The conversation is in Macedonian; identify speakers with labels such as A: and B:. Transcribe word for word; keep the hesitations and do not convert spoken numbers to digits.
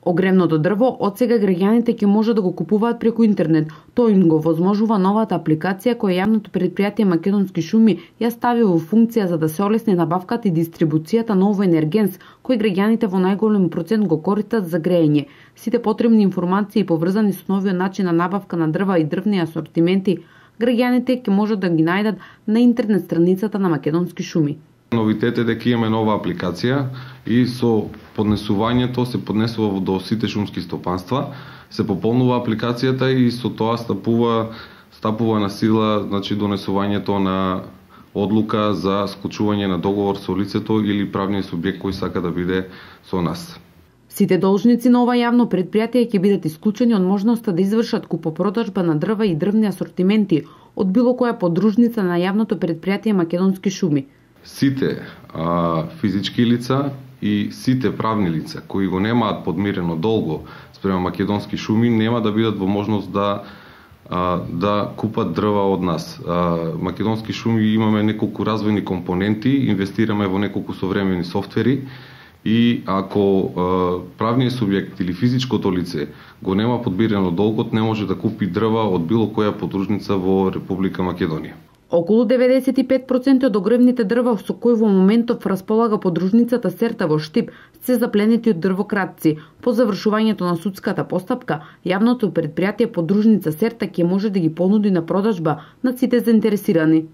A: Огревното дрво отсега граѓаните ќе може да го купуваат преку интернет. Тоа им го возможува новата апликација која јавното предпријатие Македонски шуми ја стави во функција за да се олесни набавката и дистрибуцијата на овој енергенс кој граѓаните во најголем процент го користат за грејење. Сите потребни информации поврзани со новиот начин на набавка на дрва и дрвни асортименти граѓаните ќе можат да ги најдат на интернет страницата на Македонски шуми.
B: Новитет е дека имаме нова апликација и со поднесувањето се поднесува до сите шумски стопанства, се пополнува апликацијата и со тоа стапува стапува на сила, значи донесувањето на одлука за склучување на договор со лицето или правниот субјект кој сака да биде со нас.
A: Сите должници на ова јавно предпријатие ќе бидат исклучени од можноста да извршат купопродажба на дрва и дрвни асортименти од било која подружница на јавното предпријатие Македонски шуми.
B: Сите а, физички лица и сите правни лица кои го немаат подмирено долго спрема Македонски шуми нема да бидат во можност да а, да купат дрва од нас. А, Македонски шуми имаме неколку развојни компоненти, инвестираме во неколку современи софтвери и ако а, правниот субјект или физичкото лице го нема подмирено долгот, не може да купи дрва од било која подружница во Република Македонија.
A: Околу деветдесет и пет проценти од огревните дрва со кои во моментов располага подружницата Серта во Штип се запленети од дрвократци. По завршувањето на судската постапка, јавното предпријатие подружница Серта ќе може да ги понуди на продажба на сите заинтересирани.